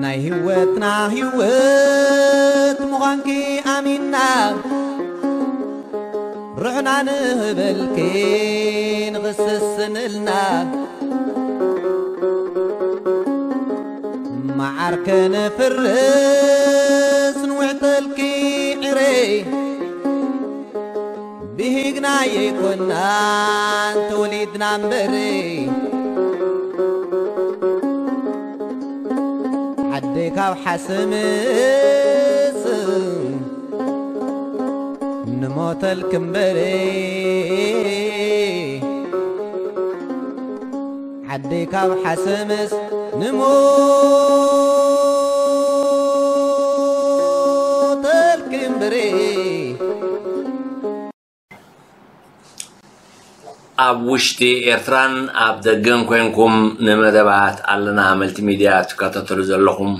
ናይ ህይወትና ህይወት ምዃንኪ ኣሚንና፣ ርሕና ንህበልኪ ንኽስስንልና፣ መዓር ከነፍርስ ንውዕተልኪ ዕረይ። ብሂግና የይኮናን ተወሊድና እምበሪ፣ ዓደይ ካብ ሓሰምስ ንሞተልኪ እምበሪ፣ ዓደይ ካብ ሓሰምስ ንሞተልኪ እምበሪ። ኣብ ውሽጢ ኤርትራን ኣብ ደገን ኮንኩም ንመደባት ኣለና መልቲ ሚድያ ትከታተሉ ዘለኹም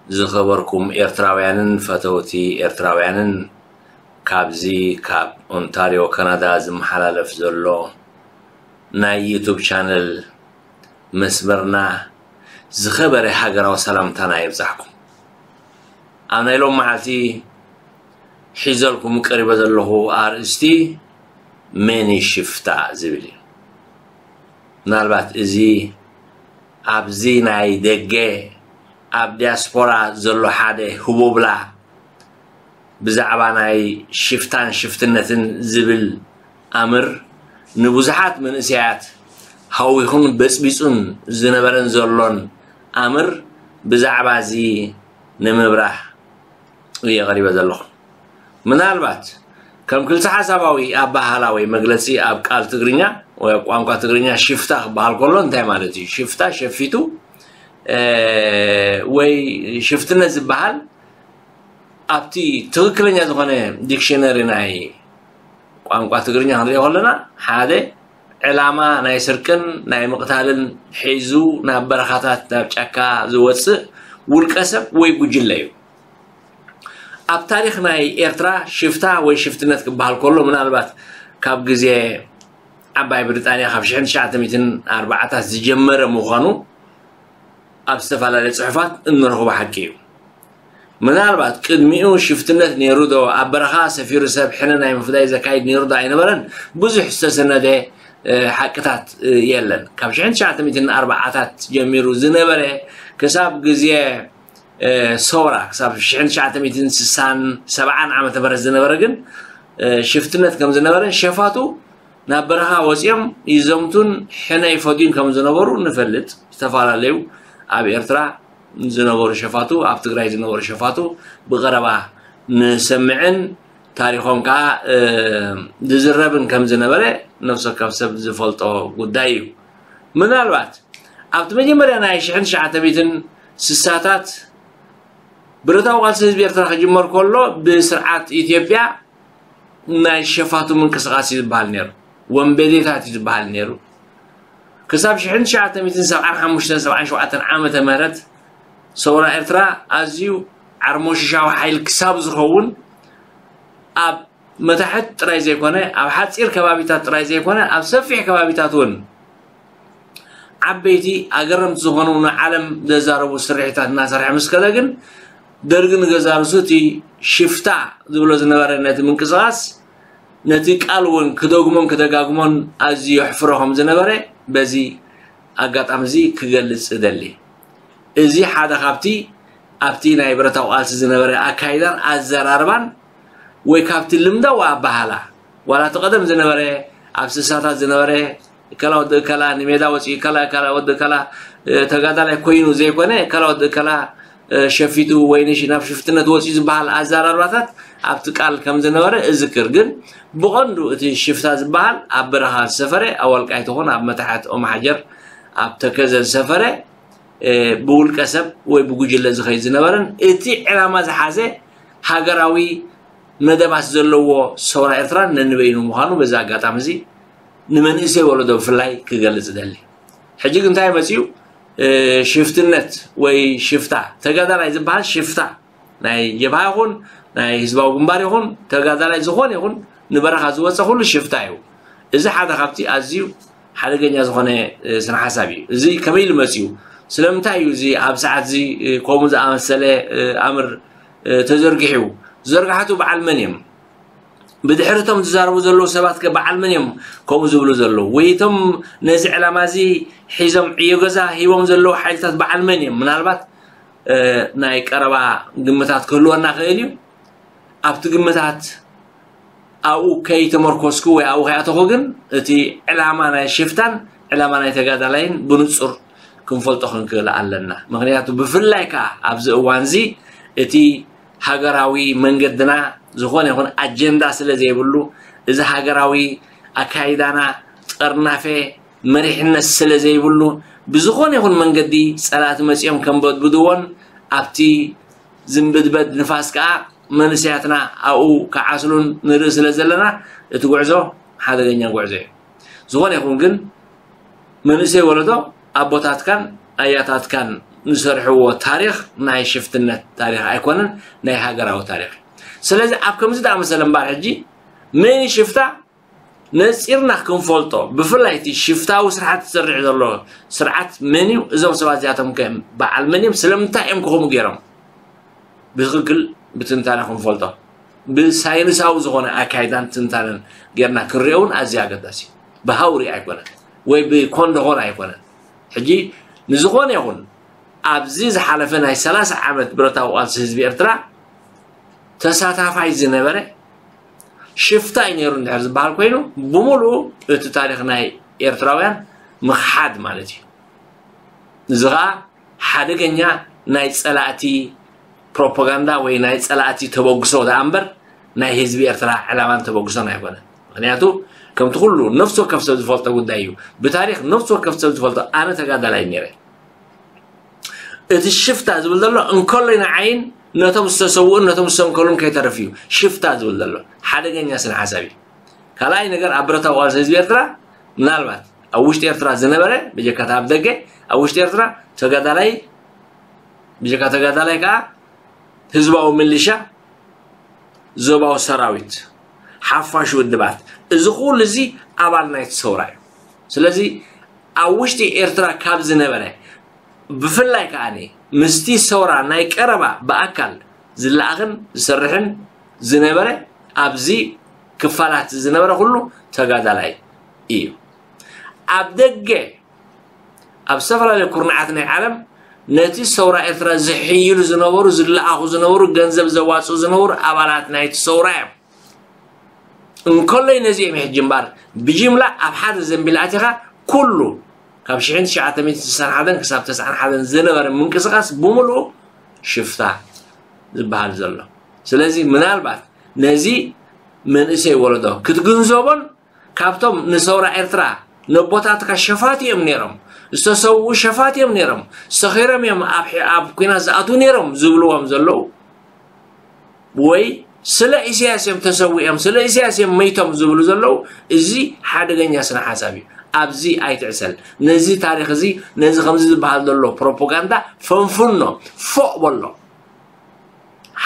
ዝኸበርኩም ኤርትራውያንን ፈተውቲ ኤርትራውያንን፣ ካብዚ ካብ ኦንታርዮ ካናዳ ዝመሓላለፍ ዘሎ ናይ ዩቱብ ቻነል መስመርና ዝኸበረ ሃገራዊ ሰላምታና ይብጻሕኩም። ኣብ ናይ ሎም መዓልቲ ሒዘልኩም ቀሪበ ዘለኹ ኣርእስቲ መን እዩ ሽፍታ ዝብል እዩ። ምናልባት እዚ ኣብዚ ናይ ደገ ኣብ ዲያስፖራ ዘሎ ሓደ ህቦብላ ብዛዕባ ናይ ሽፍታን ሽፍትነትን ዝብል ኣምር ንብዙሓት መንእሰያት ሃዊኹን በጽቢጹን ዝነበረን ዘሎን ኣምር ብዛዕባ እዚ ንምብራህ እየ ቀሪበ ዘለኹ። ምናልባት ከም ክልተ ሓሳባዊ ኣባህላ ወይ መግለጺ ኣብ ቃል ትግርኛ ወይ ኣብ ቋንቋ ትግርኛ ሽፍታ ክበሃል ከሎ እንታይ ማለት እዩ? ሽፍታ፣ ሸፊቱ፣ እ፣ ወይ ሽፍትነት ዝበሃል ኣብቲ ትኽክለኛ ዝኾነ ዲክሽነሪ ናይ ቋንቋ ትግርኛ ክንሪኦ ከለና፣ ሓደ ዕላማ ናይ ስርቅን ናይ ምቕታልን ሒዙ ናብ በረኻታት፣ ናብ ጫካ ዝወጽእ ውልቀ ሰብ ወይ ጉጅለ እዩ። ኣብ ታሪኽ ናይ ኤርትራ ሽፍታ ወይ ሽፍትነት ክበሃል ከሎ፣ ምናልባት ካብ ግዜ ዓባይ ብሪጣንያ ካብ ሽሕን ትሽዓተ ሚእትን ኣርባዓታት ዝጀመረ ምዃኑ ኣብ ዝተፈላለየ ጽሑፋት እንረኽቦ ሓቂ እዩ። ምናልባት ቅድሚኡ ሽፍትነት ነይሩ ዶ፣ ኣብ በረኻ ሰፊሩ ሰብ ሕነ ናይ ምፍዳይ ዘካይድ ነይሩ ዶ ኣይነበረን፣ ብዙሕ ዝተሰነደ፣ እ፣ ሓቅታት፣ እ፣ የለን። ካብ ሽሕን ትሽዓተ ሚእትን ኣርባዓታት ጀሚሩ ዝነበረ ክሳብ ግዜ፣ እ፣ ሰውራ፣ ክሳብ ሽሕን ትሽዓተ ሚእትን ስሳን ሰብዓን ዓመተ ምህረት ዝነበረ ግን፣ እ፣ ሽፍትነት ከም ዝነበረ፣ ሸፋቱ ናብ በረኻ ወጺኦም ይዘምቱን ሕነ ይፈድዩን ከም ዝነበሩ ንፈልጥ። ዝተፈላለዩ ኣብ ኤርትራ ዝነበሩ ሸፋቱ፣ ኣብ ትግራይ ዝነበሩ ሸፋቱ ብቐረባ ንሰምዕን ታሪኾም ከዓ፣ እ፣ ዝዝረብን ከም ዝነበረ ነፍሲ ወከፍ ሰብ ዝፈልጦ ጉዳይ እዩ። ምናልባት ኣብቲ መጀመርያ ናይ ሽሕን ትሽዓተ ሚእትን ስሳታት ብረታዊ ቃልሲ ህዝቢ ኤርትራ ክጅመር ከሎ ብስርዓት ኢትዮጵያ ናይ ሸፋቱ ምንቅስቓስ እዩ ዝበሃል ነይሩ። ወንበዴታት እዩ ዝበሃል ነይሩ። ክሳብ ሽሕን ትሽዓተ ሚእትን ሰብዓን ሓሙሽተን ሰብዓን ሸውዓተን ዓመተ ምህረት ሰውራ ኤርትራ ኣዝዩ ዓርሞሽሻዊ ሓይሊ ክሳብ ዝኸውን ኣብ መታሕት ጥራይ ዘይኮነ፣ ኣብ ሓጺር ከባቢታት ጥራይ ዘይኮነ፣ ኣብ ሰፊሕ ከባቢታት እውን ዓበይቲ ኣገረምቲ ዝኾኑ ንዓለም ዘዛረቡ ስርሒታት እናሰርሐ ምስ ከደ ግን፣ ደርጊ ንገዛ ርእሱ እቲ ሽፍታ ዝብሎ ዝነበረ ነቲ ምንቅስቓስ፣ ነቲ ቃል እውን ክደግሞን ክደጋግሞን ኣዝዩ የሕፍሮ ከም ዝነበረ በዚ ኣጋጣሚ እዚ ክገልጽ እደሊ። እዚ ሓደ ካብቲ ኣብቲ ናይ ብረታዊ ቃልሲ ዝነበረ ኣካይዳን ኣዘራርባን ወይ ካብቲ ልምዳዊ ኣበሃህላ፣ ዋላ እቲ ቀደም ዝነበረ፣ ኣብ ስሳታት ዝነበረ፣ እከላ ወዲ እከላ ንሜዳ ወፂኡ፣ እከላ፣ እከላ ወዲ እከላ፣ እ፣ ተጋዳላይ ኮይኑ ዘይኮነ፣ እከላ ወዲ እከላ፣ እ፣ ሸፊቱ ወይ ንሽ-፣ ናብ ሽፍትነት ወፂኡ ዝበሃል ኣዘራርባታት ኣብቲ ቃል ከም ዝነበረ እዝክር። ግን ብቐንዱ እቲ ሽፍታ ዝበሃል ኣብ በረኻ ዝሰፈረ፣ ኣብ ወልቃይት ይኹን ኣብ መታሕት ኦም ሓጀር፣ ኣብ ተከዘ ዝሰፈረ፣ እ፣ ብውልቀ ሰብ ወይ ብጉጅለ ዝኸይድ ዝነበረን እቲ ዕላማ ዝሓዘ ሃገራዊ መደባት ዘለዎ ሰውራ ኤርትራን ነንበይኑ ምዃኑ በዚ ኣጋጣሚ እዚ ንመንእሰይ ወለዶ ብፍላይ ክገልጽ እደሊ። ሕጂ ግን እንታይ መጺኡ? ሽፍትነት ወይ ሽፍታ፣ ተጋዳላይ ዝበሃል ሽፍታ፣ ናይ ጀብሃ ይኹን ናይ ህዝባዊ ግንባር ይኹን ተጋዳላይ ዝኾነ ይኹን ንበረኻ ዝወፀ ኩሉ ሽፍታ እዩ። እዚ ሓደ ካብቲ ኣዝዩ ሓደገኛ ዝኾነ ስነ ሓሳብ እዩ። እዚ ከመይ ኢሉ መፅዩ? ስለምንታይ እዩ እዚ ኣብ ሰዓት እዚ ከምኡ ዝኣመሰለ ኣምር ተዘርጊሑ? ዘርጋሕቱ በዓል መን እዮም? ብድሕሪ እቶም ዝዛረቡ ዘለዉ ሰባት ከ በዓል መን እዮም ከምኡ ዝብሉ ዘለዉ? ወይ እቶም ነዚ ዕላማ እዚ ሒዞም ዕዮ ገዛ ሂቦም ዘለዉ ሓይልታት በዓል መን እዮም? ምናልባት ናይ ቀረባ ግምታት ክህልወና ክእል እዩ። ኣብቲ ግምታት ኣብኡ ከይተመርኮስኩ ወይ ኣብኡ ከይኣተኹ ግን እቲ ዕላማ ናይ ሽፍታን ዕላማ ናይ ተጋዳላይን ብንጹር ክንፈልጦ ክንክእል ኣለና። ምክንያቱ ብፍላይ ከኣ ኣብዚ እዋን እዚ እቲ ሃገራዊ መንገድና ዝኾነ ይኹን ኣጀንዳ ስለ ዘይብሉ፣ እዚ ሃገራዊ ኣካይዳና ጥርናፈ መሪሕነት ስለ ዘይብሉ፣ ብዝኾነ ይኹን መንገዲ ጸላእቲ መጺኦም ከንበድብድዎን ኣብቲ ዝንብድበድ ንፋስ ከኣ መንእሰያትና ኣብኡ ክዓስሉን ንርኢ ስለ ዘለና እቲ ጉዕዞ ሓደገኛ ጉዕዞ እዩ። ዝኾነ ይኹን ግን መንእሰይ ወለዶ ኣቦታትካን ኣያታትካን ዝሰርሕዎ ታሪኽ ናይ ሽፍትነት ታሪኽ ኣይኮነን፣ ናይ ሃገራዊ ታሪኽ እዩ። ስለዚ ኣብ ከምዚ ዝኣመሰለ እምበር ሕጂ መን እዩ ሽፍታ ነጺርና ክንፈልጦ፣ ብፍላይ እቲ ሽፍታዊ ስርዓት ዝሰርሕ ዘሎ ስርዓት መን እዩ? እዞም ሰባት እዚኣቶም ከ በዓል መን እዮም? ስለምንታይ እዮም ከምኡ ገይሮም? ብትኽክል ብትንታነ ክንፈልጦ፣ ብሳይንሳዊ ዝኾነ ኣካይዳን ትንታነን ጌርና ክንሪኦ እውን ኣዝዩ ኣገዳሲ እዩ። ብሃውሪ ኣይኮነን ወይ ብኮንደኾን ኣይኮነን። ሕጂ ንዝኾነ ይኹን ኣብዚ ዝሓለፈ ናይ ሰላሳ ዓመት ብረታዊ ቃልሲ ህዝቢ ኤርትራ ተሳታፋይ ዝነበረ ሽፍታ እዩ ነይሩ እንድሕር ዝበሃል ኮይኑ፣ ብምሉኡ እቲ ታሪኽ ናይ ኤርትራውያን ምኽሓድ ማለት እዩ። እዚ ኸኣ ሓደገኛ ናይ ጸላእቲ ፕሮፓጋንዳ ወይ ናይ ጸላእቲ ተበግሶ ደኣ እምበር ናይ ህዝቢ ኤርትራ ዕላማን ተበግሶን ኣይኮነን። ምክንያቱ ከምቲ ኩሉ ነፍሲ ወከፍ ሰብ ዝፈልጦ ጉዳይ እዩ። ብታሪኽ ነፍሲ ወከፍ ሰብ ዝፈልጦ፣ ኣነ ተጋዳላይ ነይረ። እቲ ሽፍታ ዝብል ዘሎ እንከሎይ ንዓይን ነቶም ዝተሰውኡን ነቶም ዝተንከሉን ከይተርፍ እዩ ሽፍታ ዝብል ዘሎ። ሓደገኛ ስነ ሓሳብ እዩ። ካልኣይ ነገር ኣብ ብረታዊ ቃልሲ ህዝቢ ኤርትራ ምናልባት ኣብ ውሽጢ ኤርትራ ዝነበረ ብጀካ ኣብ ደገ ኣብ ውሽጢ ኤርትራ ተጋዳላይ ብጀካ ተጋዳላይ ከዓ ህዝባዊ ምልሻ ዞባዊ ሰራዊት ሓፋሽ ውድባት እዚ ኩሉ እዚ ኣባል ናይቲ ሰውራ እዩ። ስለዚ ኣብ ውሽጢ ኤርትራ ካብ ዝነበረ ብፍላይ ከዓኒ ምስቲ ሰውራ ናይ ቀረባ ብኣካል ዝለኣኽን ዝሰርሕን ዝነበረ ኣብዚ ክፋላት ዝነበረ ኩሉ ተጋዳላይ እዩ። ኣብ ደገ ኣብ ዝተፈላለዩ ኩርናዓት ናይ ዓለም ነቲ ሰውራ ኤርትራ ዝሕይሉ ዝነበሩ ዝለኣኹ ዝነበሩ ገንዘብ ዘዋፅኡ ዝነበሩ ኣባላት ናይቲ ሰውራ እዮም። እንከሎይ ነዚኦም ሕጂ እምበር ብጅምላ ኣብ ሓደ ዘንቢል ኣቲኻ ኩሉ ካብ ሽሕን ትሽዓተ ሚእትን ስሳን ሓደን ክሳብ ተስዓን ሓደን ዝነበረ ምንቅስቃስ ብምሉኡ ሽፍታ ዝበሃል ዘሎ። ስለዚ ምናልባት ነዚ መንእሰይ ወለዶ ክትግንዘቦን ካብቶም ንሰውራ ኤርትራ ነቦታትካ ሸፋት እዮም ነይሮም፣ ዝተሰውኡ ሸፋት እዮም ነይሮም፣ ሰኺሮም እዮም ኣብ ሒ- ኣብ ኲናት ዝኣትዉ ነይሮም ዝብልዎም ዘለዉ ወይ ስለ ኢሳያስ እዮም ተሰዊኦም ስለ ኢሳያስ እዮም መይቶም ዝብሉ ዘለዉ እዚ ሓደገኛ ስነ ሓሳብ እዩ። ኣብዚ ኣይትዕሰል። ነዚ ታሪኽ እዚ ነዚ ከምዚ ዝበሃል ዘሎ ፕሮፓጋንዳ ፈንፍኖ ፎቕ በሎ።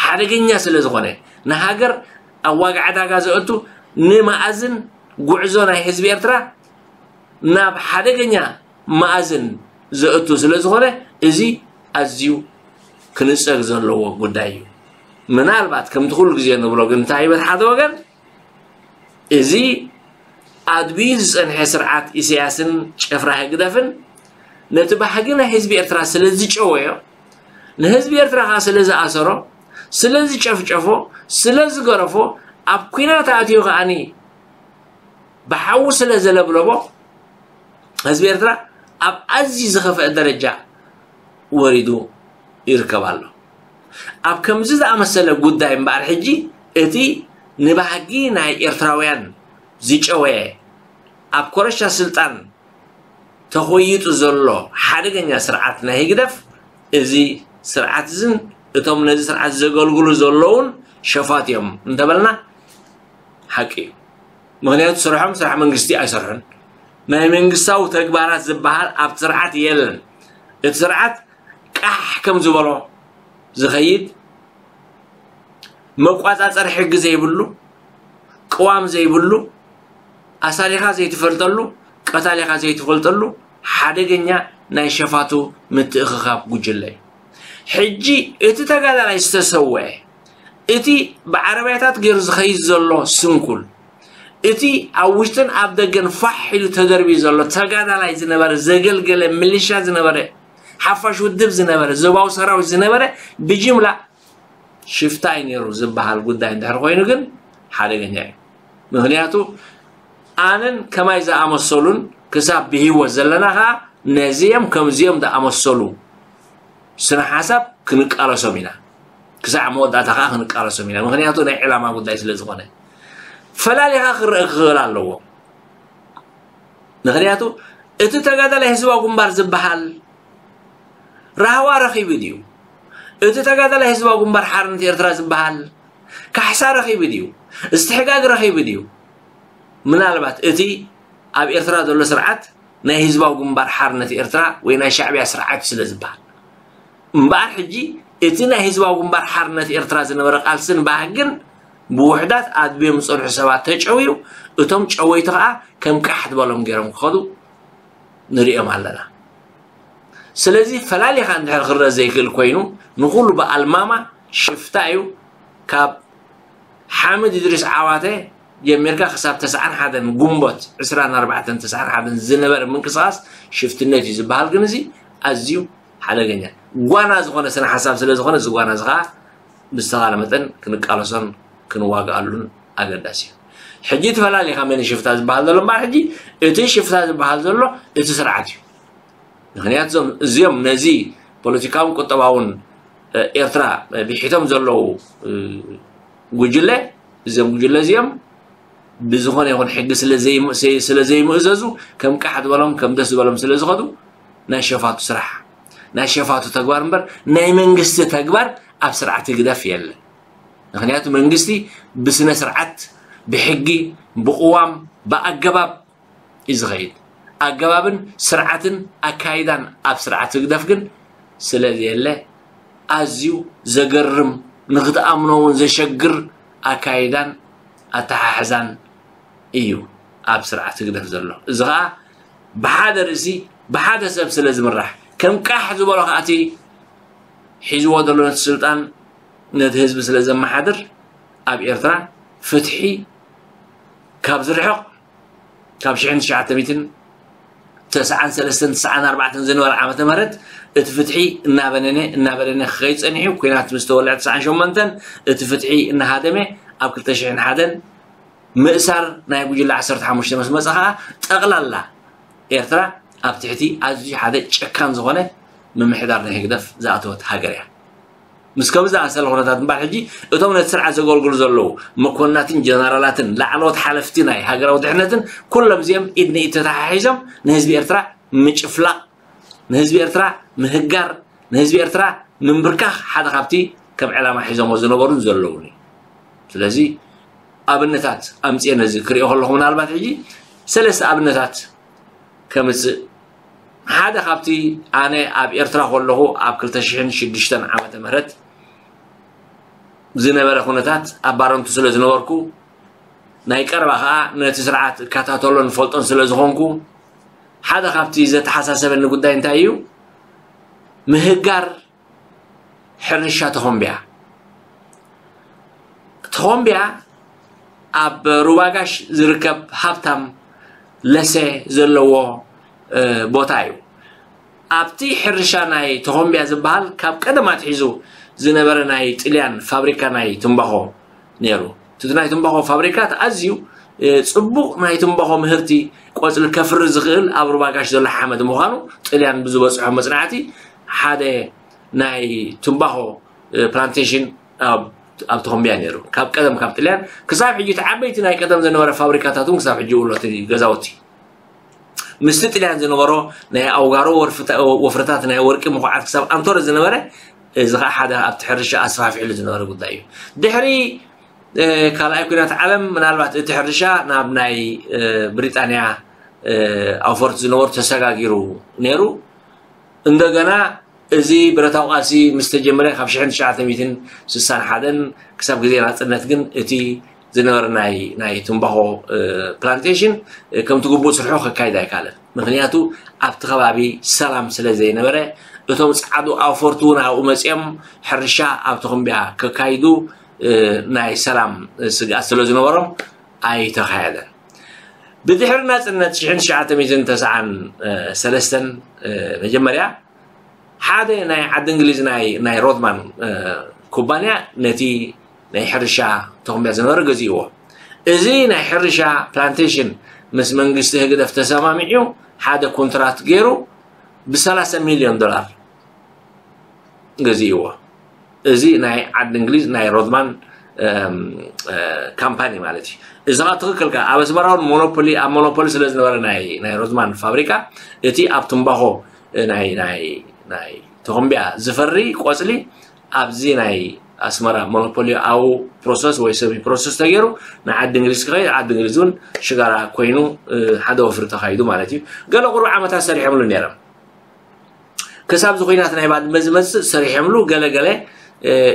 ሓደገኛ ስለ ዝኾነ ንሃገር ኣብ ዋጋ ዕዳጋ ዘእቱ ንመኣዝን ጉዕዞ ናይ ህዝቢ ኤርትራ ናብ ሓደገኛ መኣዝን ዘእቱ ስለ ዝኾነ እዚ ኣዝዩ ክንጸግ ዘለዎ ጉዳይ እዩ። ምናልባት ከምቲ ኩሉ ግዜ ንብሎ ግን እንታይ ይበል ሓደ ወገን እዚ ኣድብዩ ዝጸንሐ ስርዓት ኢሳያስን ጭፍራ ህግደፍን ነቲ ባህጊ ናይ ህዝቢ ኤርትራ ስለ ዝጨወዮ ንህዝቢ ኤርትራ ከኣ ስለ ዝኣሰሮ ስለ ዝጨፍጨፎ ስለ ዝገረፎ ኣብ ኲናት ኣእትዩ ከኣኒ ብሓዊ ስለ ዘለብለቦ ህዝቢ ኤርትራ ኣብ ኣዝዩ ዝኸፍአ ደረጃ ወሪዱ ይርከብ ኣሎ። ኣብ ከምዚ ዝኣመሰለ ጉዳይ እምበኣር ሕጂ እቲ ንባህጊ ናይ ኤርትራውያን ዝጨወየ ኣብ ኮረሻ ስልጣን ተኾይጡ ዘሎ ሓደገኛ ስርዓት ናይ ህግደፍ እዚ ስርዓት እዝን እቶም ነዚ ስርዓት ዘገልግሉ ዘለውን ሸፋት እዮም እንተበልና ሓቂ እዩ። ምክንያቱ ስርሖም ስራሕ መንግስቲ ኣይሰርሑን። ናይ መንግስታዊ ተግባራት ዝበሃል ኣብ ስርዓት የለን። እቲ ስርዓት ቃሕ ከም ዝበሎ ዝኸይድ፣ መቋጻጸሪ ሕጊ ዘይብሉ፣ ቅዋም ዘይብሉ፣ ኣሳሪኻ ዘይትፈልጠሉ፣ ቀታሊኻ ዘይትፈልጠሉ ሓደገኛ ናይ ሸፋቱ ምትእኽኻብ ጉጅለ እዩ። ሕጂ እቲ ተጋዳላይ ዝተሰወአ፣ እቲ ብዓረብያታት ገይሩ ዝኸይድ ዘሎ ስንኩል፣ እቲ ኣብ ውሽጥን ኣብ ደገን ፋሕ ኢሉ ተደርብዩ ዘሎ ተጋዳላይ ዝነበረ፣ ዘገልገለ፣ ሚሊሻ ዝነበረ፣ ሓፋሽ ውድብ ዝነበረ፣ ዞባዊ ሰራዊት ዝነበረ፣ ብጅምላ ሽፍታ እዩ ነይሩ ዝበሃል ጉዳይ እንድሕር ኮይኑ ግን ሓደገኛ እዩ። ምክንያቱ ኣነን ከማይ ዝኣመሰሉን ክሳብ ብህይወት ዘለና ከዓ ነዚኦም ከምዚኦም ዝኣመሰሉ ስነ ሓሳብ ክንቃለሶም ኢና። ክሳዕ መወዳእታ ከዓ ክንቃለሶም ኢና። ምክንያቱ ናይ ዕላማ ጉዳይ ስለ ዝኾነ ፈላሊኻ ክረአ ክኽእል ኣለዎ። ምክንያቱ እቲ ተጋዳላይ ህዝባዊ ግንባር ዝበሃል ራህዋ ረኺቡ ድዩ? እቲ ተጋዳላይ ህዝባዊ ግንባር ሓርነት ኤርትራ ዝበሃል ካሕሳ ረኺቡ ድዩ? እስትሕጋግ ረኺቡ ድዩ? ምናልባት እቲ ኣብ ኤርትራ ዘሎ ስርዓት ናይ ህዝባዊ ግንባር ሓርነት ኤርትራ ወይ ናይ ሻዕብያ ስርዓት ስለ ዝበሃል እምበኣር፣ ሕጂ እቲ ናይ ህዝባዊ ግንባር ሓርነት ኤርትራ ዝነበረ ቃልስን ባህግን ብውሕዳት ኣድብዮም ዝጸንሑ ሰባት ተጨውዩ፣ እቶም ጨወይቲ ከኣ ከም ቃሕ ዝበሎም ገይሮም ክኸዱ ንሪኦም ኣለና። ስለዚ ፈላሊኻ እንድሕር ክረአ ዘይክእል ኮይኑ፣ ንኹሉ ብኣልማማ ሽፍታ እዩ። ካብ ሓምድ እድሪስ ዓዋተ ጀሚርካ ክሳብ ተስዓን ሓደን ግንቦት ዕስራን ኣርባዕተን ተስዓን ሓደን ዝነበረ ምንቅስቓስ ሽፍትነት እዩ ዝበሃል። ግን እዚ ኣዝዩ ሓደገኛ ጓና ዝኾነ ስነ ሓሳብ ስለ ዝኾነ፣ እዚ ጓና እዚ ኸዓ ብዝተኻለ መጠን ክንቃለሶን ክንዋግኣሉን ኣገዳሲ እዩ። ሕጂ እቲ ፈላሊኻ መን ሽፍታ ዝበሃል ዘሎ እምበኣር፣ ሕጂ እቲ ሽፍታ ዝበሃል ዘሎ እቲ ስርዓት እዩ። ምክንያቱ እዞም እዚኦም ነዚ ፖለቲካውን ቁጠባውን ኤርትራ ቢሒቶም ዘለዉ ጉጅለ፣ እዚኦም ጉጅለ እዚኦም ብዝኾነ ይኹን ሕጊ ስለ ዘይምእዘዙ፣ ከም ቃሕ ዝበሎም ከም ደስ ዝበሎም ስለ ዝኸዱ፣ ናይ ሸፋቱ ስራሕ፣ ናይ ሸፋቱ ተግባር እምበር ናይ መንግስቲ ተግባር ኣብ ስርዓት ህግደፍ የለን። ምክንያቱ መንግስቲ ብስነ ስርዓት፣ ብሕጊ፣ ብቅዋም፣ ብኣገባብ እዩ ዝኸይድ። ኣገባብን ስርዓትን ኣካይዳን ኣብ ስርዓት ህግደፍ ግን ስለ ዘየለ፣ ኣዝዩ ዘገርም፣ ንክትኣምኖ እውን ዘሸግር ኣካይዳን ኣተሓሕዛን እዩ ኣብ ስርዓት ህግደፍ ዘሎ። እዚ ኸዓ ብሓደ ርእሲ፣ ብሓደ ሰብ ስለ ዝምራሕ፣ ከም ቃሕ ዝበሎ ኸዓ እቲ ሒዝዎ ዘሎ ነቲ ስልጣን፣ ነቲ ህዝቢ ስለ ዘመሓድር፣ ኣብ ኤርትራ ፍትሒ ካብ ዝርሕቕ፣ ካብ ሽሕን ትሽዓተ ሚእትን ተስዓን ሰለስተን ተስዓን ኣርባዕተን ዝነበረ ዓመተ ምህረት፣ እቲ ፍትሒ እናበነነ፣ እናበነነ ክኸይድ ጸኒሑ። ኲናት ምስ ተወልዐ ተስዓን ሸሞንተን እቲ ፍትሒ እናሃደመ፣ ኣብ ክልተ ሽሕን ሓደን ምእሳር ናይ ጉጅለ ዓሰርተ ሓሙሽተ ምስ መጸ ኸኣ፣ ጠቕላላ ኤርትራ ኣብ ትሕቲ ኣዝዩ ሓደ ጨካን ዝኾነ ምምሕዳር ናይ ህግደፍ ዝኣተወት ሃገር እያ። ምስ ከምዚ ዝኣመሰለ ኩነታት እምበኣር፣ ሕጂ እቶም ነቲ ስርዓት ዘገልግሉ ዘለዉ መኮንናትን ጀነራላትን ላዕለዎት ሓለፍቲ ናይ ሃገራዊ ድሕነትን፣ ኩሎም እዚኦም ኢድ ንኢድ ተተሓሒዞም ንህዝቢ ኤርትራ ምጭፍላቕ፣ ንህዝቢ ኤርትራ ምህጋር፣ ንህዝቢ ኤርትራ ምንብርካኽ ሓደ ካብቲ ከም ዕላማ ሒዞሞ ዝነበሩን ዘለዉን እዩ። ስለዚ ኣብነታት ኣምጽኤ ነዚ ክሪኦ ከለኹ፣ ምናልባት ሕጂ ሰለስተ ኣብነታት ከምጽእ። ሓደ ካብቲ ኣነ ኣብ ኤርትራ ከለኹ ኣብ ክልተ ሽሕን ሽዱሽተን ዓመተ ምህረት ዝነበረ ኩነታት ኣብ ባረንቱ ስለ ዝነበርኩ፣ ናይ ቀረባ ከኣ ነቲ ስርዓት እከታተሎን እፈልጦን ስለ ዝኾንኩ፣ ሓደ ካብቲ ዘተሓሳሰበኒ ጉዳይ እንታይ እዩ? ምህጋር ሕርሻ ተኾምቢያ። ተኾምቢያ ኣብ ሩባ ጋሽ ዝርከብ ሃብታም ለሰ ዘለዎ፣ እ፣ ቦታ እዩ። ኣብቲ ሕርሻ ናይ ተኾምቢያ ዝበሃል ካብ ቀደም ኣትሒዙ ዝነበረ ናይ ጥልያን ፋብሪካ ናይ ትምባኾ ነይሩ። እቲ ናይ ትምባኾ ፋብሪካ ኣዝዩ፣ እ፣ ጽቡቕ ናይ ትምባኾ ምህርቲ ቆጽሊ ከፍሪ ዝኽእል ኣብ ሩባ ጋሽ ዘሎ ሓመድ ምዃኑ ጥልያን ብዝበጽሖ መጽናዕቲ ሓደ ናይ ትምባኾ፣ እ፣ ፕላንቴሽን ኣብ፣ ኣብ ተኾምቢያ ነይሩ። ካብ ቀደም ካብ ጥልያን ክሳብ ሕጂ እቲ ዓበይቲ ናይ ቀደም ዝነበረ ፋብሪካታት እውን ክሳብ ሕጂ ይውሎ እቲ ገዛውቲ። ምስቲ ጥልያን ዝነበሮ ናይ ኣውጋሮ ወርፍታ-፣ ወፍርታት ናይ ወርቂ ምኹዓት ክሳብ ኣንቶረ ዝነበረ፣ እዚ ኸዓ ሓደ ኣብቲ ሕርሻ ኣስፋሕፊሕሉ ዝነበረ ጉዳይ እዩ። ድሕሪ፣ እ፣ ካልኣይ ኲናት ዓለም ምናልባት እቲ ሕርሻ ናብ ናይ፣ እ፣ ብሪጣንያ፣ እ፣ ኣውፈርቲ ዝነበሩ ተሰጋጊሩ ነይሩ። እንደገና እዚ ብረታዊ ቃልሲ ምስ ተጀመረ ካብ ሽሕን ትሽዓተ ሚእትን ስሳን ሓደን ክሳብ ግዜ ናጽነት ግን እቲ ዝነበረ ናይ ናይ ትምባኾ ፕላንቴሽን ከምቲ ግቡእ ስርሑ ከካይድ ኣይካለን። ምክንያቱ ኣብቲ ከባቢ ሰላም ስለ ዘይነበረ እቶም ጻዕዱ ኣውፈርቲ እውን ኣብኡ መጺኦም ሕርሻ ኣብ ተኹምብያ ከካይዱ ናይ ሰላም ስግኣት ስለ ዝነበሮም ኣይተኻየደን። ብድሕሪ ናጽነት ሽሕን ትሽዓተ ሚእትን ተስዓን ሰለስተን መጀመርያ ሓደ ናይ ዓዲ እንግሊዝ ናይ ናይ ሮድማን ኩባንያ ነቲ ናይ ሕርሻ ተኹምብያ ዝነበረ ገዚእዎ። እዚ ናይ ሕርሻ ፕላንቴሽን ምስ መንግስቲ ህግደፍ ተሰማሚዑ ሓደ ኮንትራት ገይሩ ብ ሰላሳ ሚልዮን ዶላር ገዚእዎ። እዚ ናይ ዓዲ እንግሊዝ ናይ ሮድማን ካምፓኒ ማለት እዩ። እዚ ኸዓ ትኽክል ከ ኣብ ኣስመራ እውን ሞኖፖሊ ኣብ ሞኖፖሊ ስለ ዝነበረ ናይ ናይ ሮድማን ፋብሪካ እቲ ኣብ ትምባኾ ናይ ናይ ናይ ተኾምቢያ ዝፈሪ ቆፅሊ ኣብዚ ናይ ኣስመራ ሞኖፖሊ ኣው ፕሮሰስ ወይ ሰሚ ፕሮሰስ ተገይሩ ንዓዲ እንግሊዝ ክኸይድ ዓዲ እንግሊዝ እውን ሽጋራ ኮይኑ ሓደ ወፍሪ ተኻይዱ ማለት እዩ። ገለ ቁሩብ ዓመታት ሰሪሖምሉ ነይሮም። ክሳብ እዚ ኩናት ናይ ባድመ ዝመፅእ ሰሪሖምሉ ገለገለ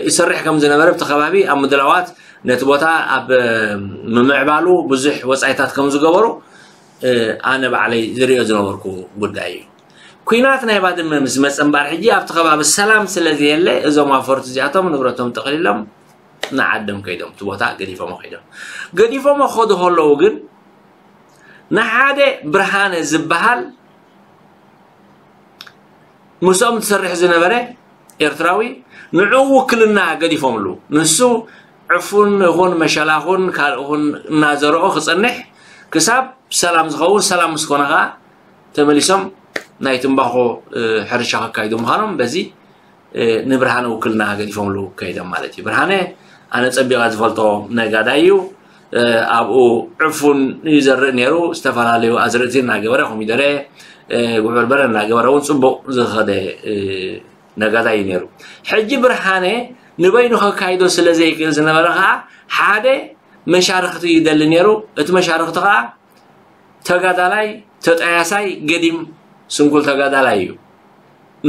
ይሰርሕ ከም ዝነበረ ብቲ ከባቢ ኣብ ምድላዋት ነቲ ቦታ ኣብ ምምዕባሉ ብዙሕ ወፃኢታት ከም ዝገበሩ ኣነ ባዕለይ ዝሪኦ ዝነበርኩ ጉዳይ እዩ። ኩናት ናይ ባድመ ምስ መፀ እምበኣር ሕጂ ኣብቲ ከባቢ ሰላም ስለ ዘየለ እዞም ኣፈርቲ እዚኣቶም ንብረቶም ጠቕሊሎም ንዓዶም ከይዶም እቲ ቦታ ገዲፎሞ ከይዶም ገዲፎሞ ክኸዱ ከለዉ ግን ንሓደ ብርሃነ ዝበሃል ምስኦም ትሰርሕ ዝነበረ ኤርትራዊ ንዕኡ ውክልና ገዲፎምሉ። ንሱ ዕፉን ይኹን መሸላ ኹን ካልእ ኹን እናዘርኦ ክጸንሕ ክሳብ ሰላም ዝኸውን፣ ሰላም ምስ ኮነ ኸኣ ተመሊሶም ናይ ትምባኾ ሕርሻ ከካይዱ ምዃኖም በዚ ንብርሃነ ውክልና ገዲፎምሉ ከይዶም ማለት እዩ። ብርሃነ ኣነ ጸቢቐ ዝፈልጦ ነጋዳይ እዩ። ኣብኡ ዕፉን ይዘርእ ነይሩ፣ ዝተፈላለዩ ኣዝርእቲ እናገበረ ኮሚደረ፣ ጉዕ በርበረ እናገበረ እውን ጽቡቕ ዝኸደ ነጋዳይ እዩ ነይሩ። ሕጂ ብርሃነ ንበይኑ ከካይዶ ስለ ዘይክእል ዝነበረ ከዓ ሓደ መሻርክቲ ይደሊ ነይሩ። እቲ መሻርክቲ ከዓ ተጋዳላይ ተጣያሳይ ገዲም ስንኩል ተጋዳላይ እዩ።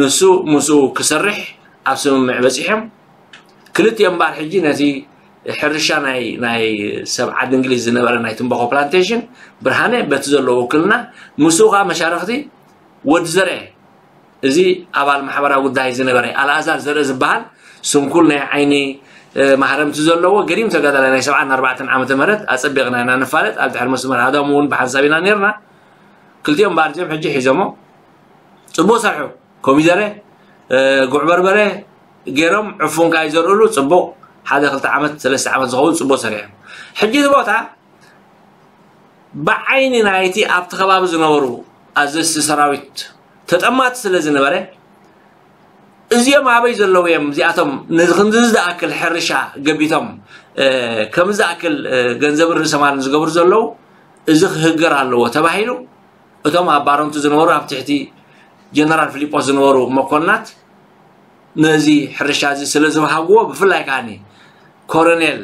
ንሱ ምስኡ ክሰርሕ ኣብ ስምምዕ በጺሖም። ክልቲኦም እምበኣር ሕጂ ነቲ ሕርሻ ናይ ናይ ሰብ ዓዲ እንግሊዝ ዝነበረ ናይ ትምባኾ ፕላንቴሽን ብርሃነ በቲ ዘለዎ ውክልና ምስኡ ከዓ መሻርክቲ ወዲ ዘርአ እዚ ኣባል ማሕበራዊ ጉዳይ ዝነበረ ኣልኣዛር ዘርአ ዝበሃል ስንኩል ናይ ዓይኒ ማህረምቲ ዘለዎ ገዲም ተጋዳላይ ናይ ሰብዓን ኣርባዕተን ዓመተ ምህረት ኣጸቢቕና ኢና ንፋለጥ። ኣብ ድሕሪ መስመር ሃዳሙ እውን ብሓንሳብ ኢና ነርና። ክልቲኦም እምበኣር እዚኦም ሕጂ ሒዞሞ ጽቡቕ ሰርሑ። ኮሚደረ፣ ጉዕ በርበረ ገይሮም ዕፉን ከዓ ይዘርእሉ ጽቡቕ ሓደ ክልተ ዓመት ሰለስተ ዓመት ዝኸውን ጽቡቕ ሰሪሖም። ሕጂ እቲ ቦታ ብዓይኒ ናይቲ ኣብቲ ከባቢ ዝነበሩ ኣዘዝቲ ሰራዊት ተጠማቲ ስለ ዝነበረ እዚኦም ኣበይ ዘለዉ እዮም እዚኣቶም ነዚ ክንድዚ ዝኣክል ሕርሻ ገቢቶም ከምዚ ዝኣክል ገንዘብን ርእሰ ማልን ዝገብሩ ዘለዉ እዚ ክህገር ኣለዎ ተባሂሉ እቶም ኣብ ባረንቱ ዝነበሩ ኣብ ትሕቲ ጀነራል ፊሊጶስ ዝነበሩ መኮንናት ነዚ ሕርሻ እዚ ስለ ዝበሃግዎ ብፍላይ ከዓኒ ኮረኔል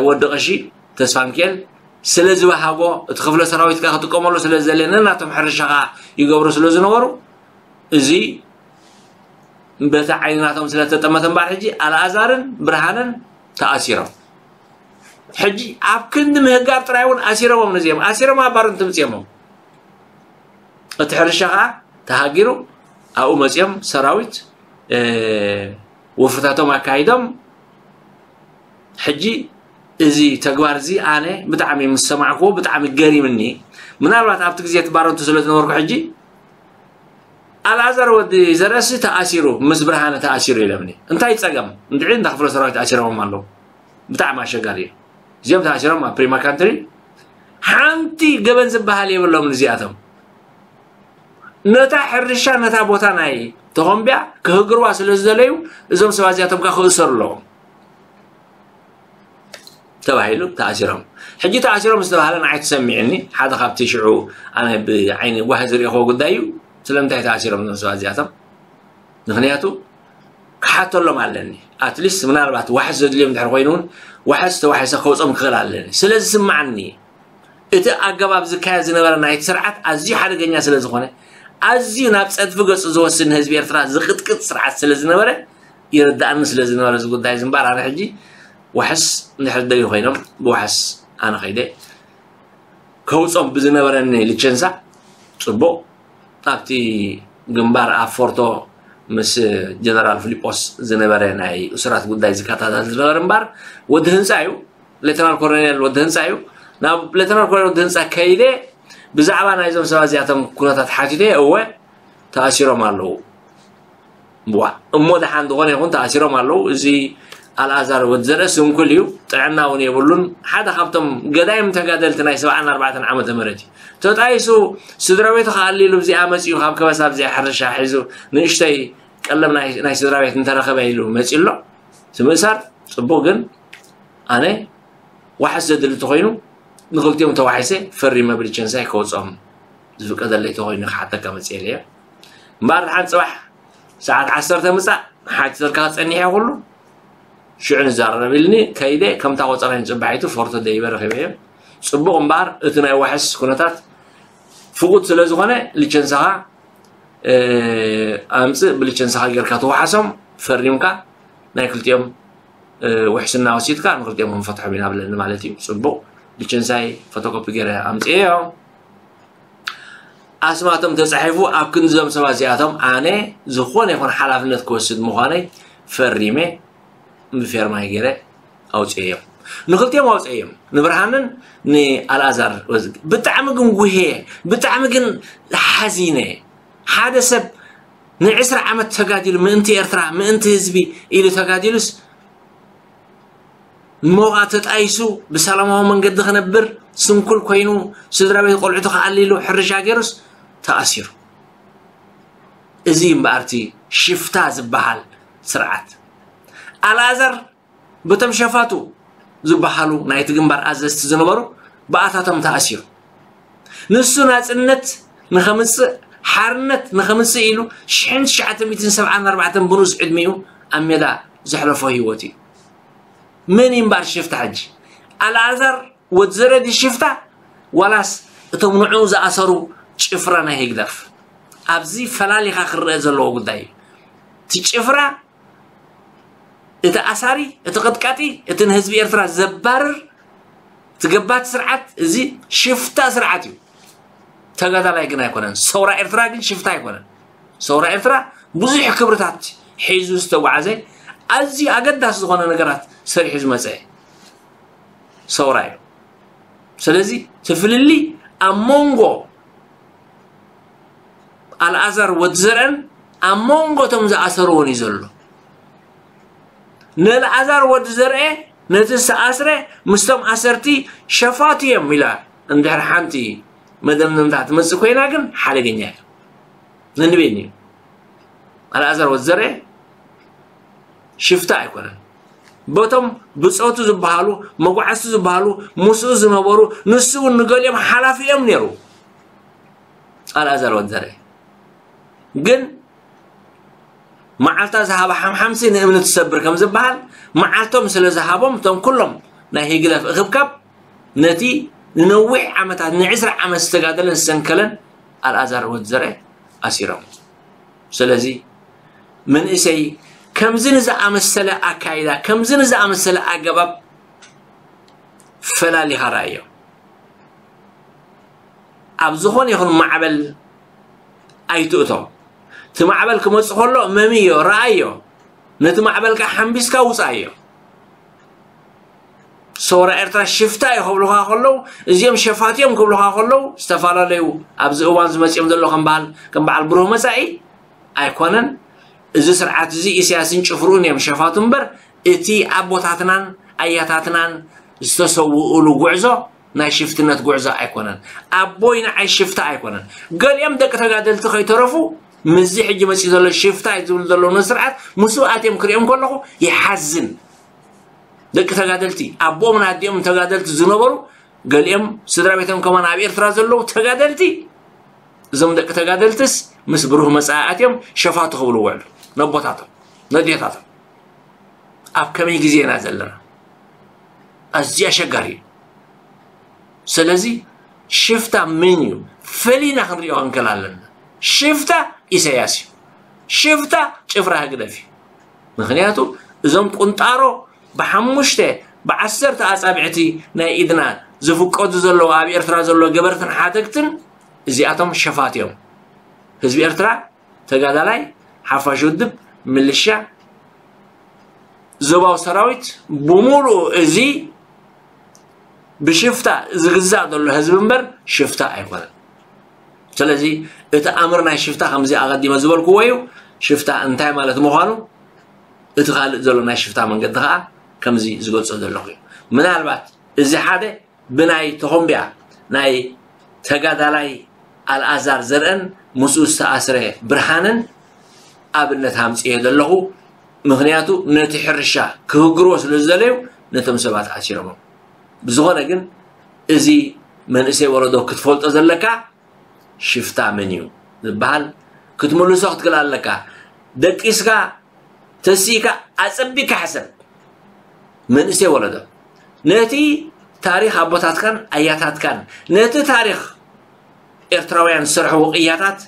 ወዲ ቀሺ ተስፋ ሚካኤል ስለ ዝበሃጎ እቲ ክፍለ ሰራዊት ከዓ ክጥቀመሉ ስለ ዝደለየ ነናቶም ሕርሻ ከዓ ይገብሩ ስለ ዝነበሩ እዚ በቲ ዓይኒ ናቶም ስለ ተጠመተ እምበኣር ሕጂ ኣልኣዛርን ብርሃንን ተኣሲሮም። ሕጂ ኣብ ክንዲ ምህጋር ጥራይ እውን ኣሲሮሞም ነዚኦም ኣሲሮም ኣብ ባረንቱ ምፅኦሞም። እቲ ሕርሻ ከዓ ተሃጊሩ ኣብኡ መፂኦም ሰራዊት ወፍርታቶም ኣካይዶም። ሕጂ እዚ ተግባር እዚ ኣነ ብጣዕሚ ምስ ሰማዕክዎ ብጣዕሚ ገሪምኒ። ምናልባት ኣብቲ ግዜ እቲ ባረንቱ ስለ ዝነበርኩ ሕጂ ኣልኣዛር ወዲ ዘርእሲ ተኣሲሩ ምስ ብርሃነ ተኣሲሩ ኢለምኒ። እንታይ ፀገም እንድዒ እንዳ ክፍለ ሰራዊት ኣሲሮሞም ኣለዉ። ብጣዕሚ ኣሸጋሪ እዩ። እዚኦም ተኣሲሮም ኣብ ፕሪማ ካንትሪ ሓንቲ ገበን ዝበሃል የብሎም እዚኣቶም። ነታ ሕርሻ ነታ ቦታ ናይ ተኾምቢያ ክህግርዋ ስለ ዝደለዩ እዞም ሰባት እዚኣቶም ከዓ ክእሰሩ ኣለዎም ተባሂሉ ተኣሲሮም። ሕጂ ተኣሲሮም ዝተባሃለ ንዓይ ተሰሚዕኒ ሓደ ካብቲ ሽዑ ኣነ ብዓይኒ ጓሂ ዝሪእኽዎ ጉዳይ እዩ። ስለምንታይ ተኣሲሮም እዞም ሰባት እዚኣቶም? ምክንያቱ ክሓተሎም ኣለኒ። ኣትሊስት ምናልባት ዋሕስ ዘድልዮም ድሕር ኮይኑ እውን ዋሕስ ተዋሒሰ ከውፅኦም ክኽእል ኣለኒ ስለ ዝስማዓኒ እቲ ኣገባብ ዝካየድ ዝነበረ ናይቲ ስርዓት ኣዝዩ ሓደገኛ ስለ ዝኾነ ኣዝዩ ናብ ጸድፊ ገጹ ዝወስድ ንህዝቢ ኤርትራ ዝቕጥቅጥ ስርዓት ስለ ዝነበረ፣ ይርዳእኒ ስለ ዝነበረ እዚ ጉዳይ እዚ እምበኣር፣ ኣነ ሕጂ ዋሕስ እንድሕር ደልዩ ኮይኖም ብዋሕስ ኣነ ከይደ ከውጾም ብዝነበረኒ ልቸንሳ ጽቡቕ። ኣብቲ ግንባር ኣብ ፎርቶ ምስ ጀነራል ፊሊጶስ ዝነበረ ናይ እሱራት ጉዳይ ዝከታተል ዝነበረ እምበር፣ ወዲ ህንጻ እዩ። ሌተናል ኮሎኔል ወዲ ህንጻ እዩ። ናብ ሌተናል ኮሎኔል ወዲ ህንጻ ከይደ ብዛዕባ ናይዞም ሰባት እዚኣቶም ኩነታት ሓቲተ። እወ፣ ተኣሲሮም ኣለዉ። እዋ፣ እሞ ደሓን ዝኾነ ይኹን፣ ተኣሲሮም ኣለዉ። እዚ ኣልኣዛር ወዲ ዘርአ ስንኩል እዩ፣ ጥዕና እውን የብሉን። ሓደ ካብቶም ገዳይም ተጋደልቲ ናይ ሰብዓን ኣርባዕተን ዓመተ ምህረት እዩ። ተጣይሱ፣ ስድራ ቤቱ ክኣሊ ኢሉ፣ ኣብዚኣ መጺኡ፣ ካብ ከበሳ ኣብዚኣ ሕርሻ ሒዙ፣ ንእሽተይ ቀለም ናይ፣ ናይ ስድራ ቤት እንተረኸበ ኢሉ መጺኡ ኣሎ። እቲ ምእሳር ጽቡቕ፣ ግን ኣነ ዋሕስ ዘድሊ ተኾይኑ፣ ንኽልቲኦም ተዋሒሰ ፈሪመ ብልቸንሳይ ከውጽኦም ዝፍቀደለይ ተኾይኑ ክሓተካ መጽኤ እየ። እምበኣር፣ ደሓን ጽባሕ ሰዓት ዓሰርተ ምጻእ፣ ሓቲተልካ ክጸኒሕ እየ ኩሉ። ሽዑ ንዛረብ ኢልኒ፣ ከይደ፣ ከምታ ቆጸራይ ንጽባሒቱ ፎርቶ ደይበ ረኺበዮ። ጽቡቕ እምበኣር፣ እቲ ናይ ዋሕስ ኩነታት ፍቑድ ስለ ዝኾነ፣ ልቸንሳኻ፣ እ፣ ኣምጽእ፣ ብልቸንሳኻ ጌርካ ተዋሓሶም፣ ፈሪምካ፣ ናይ ክልቲኦም፣ እ፣ ውሕስና ወሲድካ፣ ንክልቲኦም ክንፈትሖም ኢና ብለኒ ማለት እዩ። ጽቡቕ፣ ልቸንሳይ ፎቶኮፒ ገይረ ኣምጽኤዮ። ኣስማቶም ተጻሒፉ ኣብ ክንዲ እዞም ሰባት እዚኣቶም ኣነ ዝኾነ ይኹን ሓላፍነት ክወስድ ምዃነይ ፈሪመ ብፌርማይ ገይረ ኣውጽኤዮም። ንክልቲኦም ኣውጽኤዮም፣ ንብርሃንን ንኣልኣዛር ወዝግ። ብጣዕሚ ግን ጉሄ፣ ብጣዕሚ ግን ሓዚነ። ሓደ ሰብ ንዕስራ ዓመት ተጋዲሉ ምእንቲ ኤርትራ፣ ምእንቲ ህዝቢ ኢሉ ተጋዲሉስ፣ ሞቓ ተጣይሱ ብሰላማዊ መንገዲ ክነብር ስንኩል ኮይኑ፣ ስድራ ቤት ቆልዑቱ ክኣሊ ኢሉ ሕርሻ ገይሩስ ተኣሲሩ። እዚ እምበኣር እቲ ሽፍታ ዝበሃል ስርዓት። ኣልኣዛር በቶም ሸፋቱ ዝበሃሉ ናይቲ ግንባር ኣዘዝቲ ዝነበሩ ብኣታቶም ተኣሲሩ። ንሱ ናጽነት ንኸምጽእ፣ ሓርነት ንኸምጽእ ኢሉ ሽሕን ትሽዓተ ሚእትን ሰብዓን ኣርባዕተን ብንኡስ ዕድሚኡ ኣብ ሜዳ ዘሕለፎ ህይወት እዩ። መን እዩ እምበኣር ሽፍታ ሕጂ? ኣልኣዛር ወዲ ዘርአ ድዩ ሽፍታ? ዋላስ እቶም ንዕኡ ዝኣሰሩ ጭፍራ ናይ ህግደፍ? ኣብዚ ፈላሊኻ ክረአ ዘለዎ ጉዳይ እዩ። እቲ ጭፍራ፣ እቲ ኣሳሪ፣ እቲ ቀጥቃጢ፣ እቲ ንህዝቢ ኤርትራ ዘባርር፣ እቲ ገባቲ ስርዓት፣ እዚ ሽፍታ ስርዓት እዩ። ተጋዳላይ ግን ኣይኮነን። ሰውራ ኤርትራ ግን ሽፍታ ኣይኮነን። ሰውራ ኤርትራ ብዙሕ ክብርታት ሒዙ ዝተጓዓዘ፣ ኣዝዩ ኣገዳሲ ዝኾነ ነገራት ሰሪሑ ዝመጸ ሰውራ እዩ። ስለዚ እቲ ፍልልይ ኣብ መንጎ ኣልኣዛር ወዲ ዘርአን ኣብ መንጎ እቶም ዝኣሰርዎን እዩ ዘሎ። ንኣልኣዛር ወዲ ዘርአ ነቲ ዝተኣስረ ምስቶም ኣሰርቲ ሸፋቱ እዮም ኢላ እንድሕር ሓንቲ መደምደምታ ትመጽእ ኮይና ግን ሓደገኛ እዩ። ነንቤኒ እዩ። ኣልኣዛር ወዲ ዘርአ ሽፍታ ኣይኮነን። በቶም ብጾቱ ዝበሃሉ፣ መጓዕዝቲ ዝበሃሉ፣ ምስኡ ዝነበሩ፣ ንሱ እውን ንገሊኦም ሓላፊ እዮም ነይሩ። ኣልኣዛር ወዲ ዘርአ ግን መዓልታ ዝሃባ ሓምሓምሲ ንእምኒ ትሰብር ከም ዝበሃል፣ መዓልቶም ስለ ዝሃቦም፣ እቶም ኩሎም ናይ ህግደፍ እኽብካብ ነቲ ንነዊሕ ዓመታት፣ ንዕስራ ዓመት ዝተጋደለን ዝሰንከለን ኣልኣዛር ወዲ ዘርአ ኣሲሮም። ስለዚ መንእሰይ ከምዚ ንዝኣመሰለ ኣካይዳ፣ ከምዚ ንዝኣመሰለ ኣገባብ ፈላሊኻ ረኣዮ። ኣብ ዝኾነ ይኹን ማዕበል ኣይትእቶ። እቲ ማዕበል ክመጽእ ከሎ መምዮ፣ ረኣዮ። ነቲ ማዕበል ከኣ ሓምቢስካ ውጻእዮ። ሰውራ ኤርትራ ሽፍታ እዩ ክብሉኻ ከለዉ፣ እዚኦም ሸፋት እዮም ክብሉኻ ከለዉ፣ ዝተፈላለዩ ኣብዚ እዋን ዝመጽኦም ዘሎ ከም በዓል፣ ከም በዓል ብሩህ መጻኢ ኣይኮነን። እዚ ስርዓት እዚ ኢሳያስን ጭፍርኡን እዮም ሸፋቱ እምበር፣ እቲ ኣቦታትናን ኣያታትናን ዝተሰውኡሉ ጉዕዞ ናይ ሽፍትነት ጉዕዞ ኣይኮነን። ኣቦይ ንዓይ ሽፍታ ኣይኮነን። ገሊኦም ደቂ ተጋደልቲ ከይተረፉ ምስዚ ሕጂ መጺኡ ዘሎ ሽፍታ እዩ ዝብል ዘሎ ስርዓት ምስኡ ኣትዮም ክሪኦም ከለኹ ይሓዝን። ደቂ ተጋደልቲ፣ ኣቦኦምን ኣዲኦምን ተጋደልቲ ዝነበሩ፣ ገሊኦም ስድራ ቤቶም ከማን ኣብ ኤርትራ ዘለዉ ተጋደልቲ፣ እዞም ደቂ ተጋደልትስ ምስ ብሩህ መጻኢ ኣትዮም ሸፋቱ ክብሉ ውዕሉ። ነቦታቶም፣ ነዴታቶም። ኣብ ከመይ ግዜ ኢና ዘለና? ኣዝዩ ኣሸጋሪ እዩ። ስለዚ ሽፍታ መን እዩ? ፈሊና ክንሪኦ ክንክእል ኣለና። ሽፍታ ኢሳያስ እዩ። ሽፍታ ጭፍራ ህግደፍ እዩ። ምክንያቱ እዞም ቁንጣሮ ብሓሙሽተ ብዓሰርተ ኣጻብዕቲ ናይ ኢድና ዝፍቀዱ ዘለዉ ኣብ ኤርትራ ዘሎ ገበርትን ሓተግትን እዚኣቶም ሸፋት እዮም። ህዝቢ ኤርትራ ተጋዳላይ፣ ሓፋሽ ውድብ፣ ምልሻ፣ ዞባዊ ሰራዊት ብምሉኡ እዚ ብሽፍታ ዝግዛእ ዘሎ ህዝቢ እምበር ሽፍታ ኣይኮነን። ስለዚ እቲ ኣምር ናይ ሽፍታ ከምዚ ኣቐዲመ ዝበልክዎ እዩ። ሽፍታ እንታይ ማለት ምዃኑ እቲ ካልእ ዘሎ ናይ ሽፍታ መንገዲ ከዓ ከምዚ ዝገልጾ ዘለኹ እዩ። ምናልባት እዚ ሓደ ብናይ ተኾምቢያ ናይ ተጋዳላይ ኣልኣዛር ዘርአን ምስኡ ዝተኣስረ ብርሃንን ኣብነት ኣምፅኤ ዘለኹ። ምክንያቱ ነቲ ሕርሻ ክህግርዎ ስለ ዝደለዩ ነቶም ሰባት ኣሲሮሞም። ብዝኾነ ግን እዚ መንእሰይ ወለዶ ክትፈልጦ ዘለካ ሽፍታ መን እዩ ዝበሃል ክትምልሶ ክትክእል ኣለካ። ደቂስካ ተሲእካ ኣጸቢካ ሕሰብ። መንእሰይ ወለዶ ነቲ ታሪኽ ኣቦታትካን ኣያታትካን ነቲ ታሪኽ ኤርትራውያን ዝሰርሕዎ ቅያታት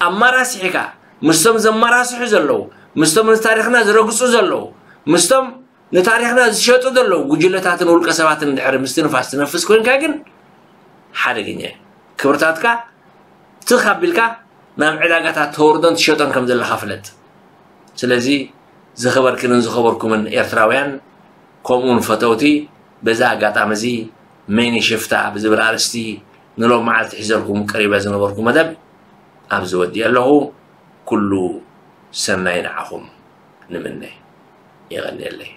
ኣማራሲሕካ ምስቶም ዘማራስሑ ዘለዉ ምስቶም ንታሪኽና ዝረግጹ ዘለዉ ምስቶም ንታሪኽና ዝሸጡ ዘለዉ ጉጅለታትን ውልቀ ሰባትን ድሕሪ ምስትንፋስ ትነፍስ ኮይንካ ግን ሓደገኛ እዩ። ክብርታትካ ትኽ ኣቢልካ ናብ ዕዳጋታት ተወርዶን ትሸጦን ከም ዘለኻ ፍለጥ። ስለዚ ዝኸበርክንን ዝኸበርኩምን ኤርትራውያን ከምኡውን ፈተውቲ በዛ ኣጋጣሚ እዚ መይኒ ሽፍታ ብዝብል ኣርእስቲ ንሎም መዓልቲ ሒዘልኩም ቀሪበ ዝነበርኩ መደብ ኣብዚ ወዲእ ኣለኹ። ኩሉ ሰናይ ንዓኹም ንምነ። የቐንየለይ።